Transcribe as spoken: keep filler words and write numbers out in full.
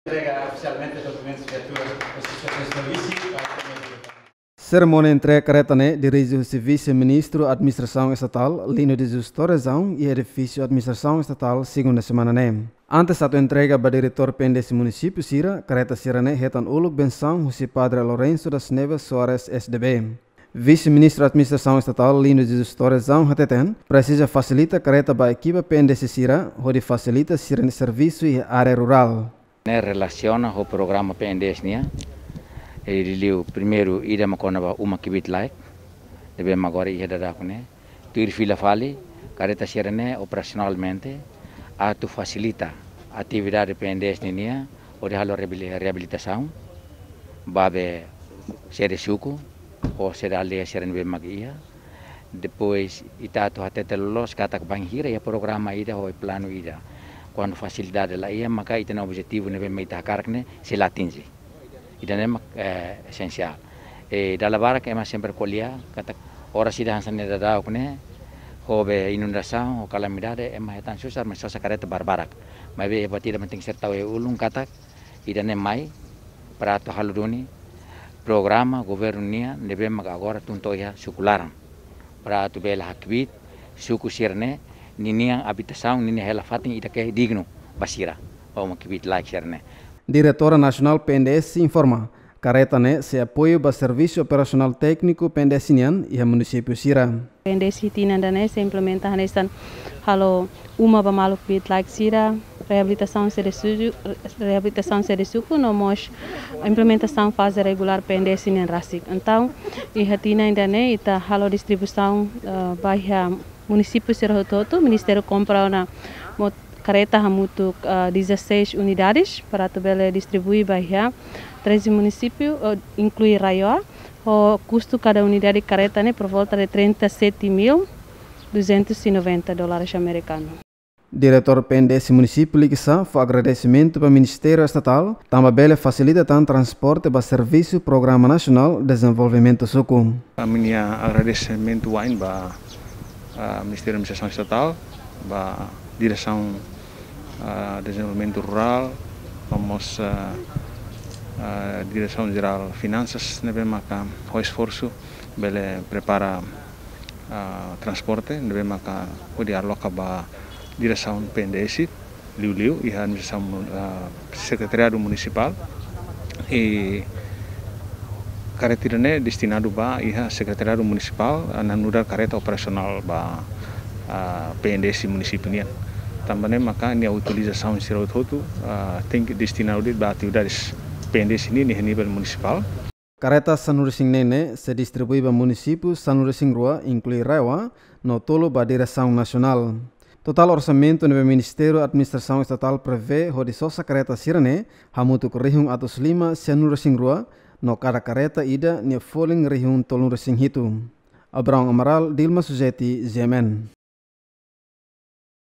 Entrega oficialmente documentos de viatura aos seus serviços para. Serimónia entrega kareta ne'e dirije husi Vise-Ministru Administrasaun Estatál, Lino de Jesus Torrezão, iha edifísiu Administrasaun Estatál, segunda semana ne'e. Antes atu entrega ba diretór P N D S munisípiu sira, kareta sira-ne'e hetan uluk bensaun husi Padre Lourenço das Neves Soares, S D B. Vise-Ministru Administrasaun Estatál, Lino de Jesus Torrezão, hateten, presiza fasilita kareta ba ekipa P N D S sira, hodi fasilita sira-nia servisu iha área rurál. Ne'e relasiona ho programa P N D S nian, e liuliu primeiru ida mak kona-ba uma kbiit laek, ne'ebé mak agora iha daudauk ne'e. Tuir fila fali, kareta sira-ne'e operasionalmente atu fasilita atividade P N D S ninian, hodi halo reabili-, reabilitasaun ba be sede suku, ou sede aldeia sira ne'ebé mak iha. Depois, ita atu hatete loloos katak bainhira iha programa ida ou planu ida, kuandu fasilidade la iha, maka ita-nia objetivu ne'ebé mak ita hakarak ne'e sei la atinje. Ida-ne'e mak, eh, esensiál. E dala barak ema sempre ko'alia katak oras ida hanesan ne'e daudauk ne'e, ho be inundasaun, ho kalamidade, ema hetan susar, mas sosa kareta barbarak. Maibé buat ida mak tenke ser tau iha ulun katak ida-ne'e mai para atu halo duni programa governu nian ne'ebé mak agora tun to'o iha suku laran, para atu bele hakbiit suku sira-ne'e ninian abitasaun, ninian hela fatin ida ke dignu ba sira, ba uma kbiit laek sira-ne'e. Diretora Nasionál P N D S informa, kareta ne'e sei apoiu ba servisu operasionál tékniku P N D S nian iha munisípiu sira. P N D S iha tinan ida-ne'e sei implementa hanesan halo uma ba maluk kbiit laek sira, reabilitasaun sede suku, reabilitasaun sede suku, no mós implementasaun faze regulár P N D S nian rasik. Entaun, iha tinan ida-ne'e ita halo distribuisaun, eh, ba iha munisípiu sira hotu-hotu, Ministériu kompra ona mot-, kareta hamutuk, eh, dezasseis unidades para atu bele distribui ba iha treze munisípiu, eh, inklui RAEOA, ho kustu kada unidade kareta ne'e por volta de trinta e sete mil duzentos e noventa dólares americanos. Diretór P N D S munisípiu Likisá fó agradesimentu ba Ministériu Estatál, tanba bele fasilita tan transporte ba servisu Programa Nasionál Dezenvolvimentu Suku. Ami-nia agradesimentu wa'in ba, ah, Ministériu Administrasaun Estatál, ba Diresaun, ah, Dezenvolvimentu Rurál, no mós, ah, ah, Diresaun Jerál Finansas, ne'ebé maka ho esforsu bele prepara, ah, transporte, ne'ebé maka hodi aloka ba diresaun P N D S, liuliu iha administrasaun mun-, ah, sekretariadu munisipál. I kareta ida-ne'e destinadu ba iha sekretariadu munisipál, ah, na nu'udar kareta operasionál ba, ah, P N D S munisípiu nian. Tanba ne'e maka nia utilizasaun sira hotu-hotu, ah, tenke destinadu de'it ba atividades P N D S nian iha nivel munisipál. Kareta sanulu-resin-neen ne'e sei distribui ba munisípiu sanulu-resin-rua, inklui RAEOA, no tolu ba diresaun nasionál. Totál orsamentu ne'ebé Ministériu Administrasaun Estatál prevee hodi sosa kareta sira-ne'e hamutuk rihun atus lima sianulu-resin-rua, no kada kareta ida nia folin rihun tolunulu-resin-hitu. Abraão Amaral, Dilma Suzeti, G M N.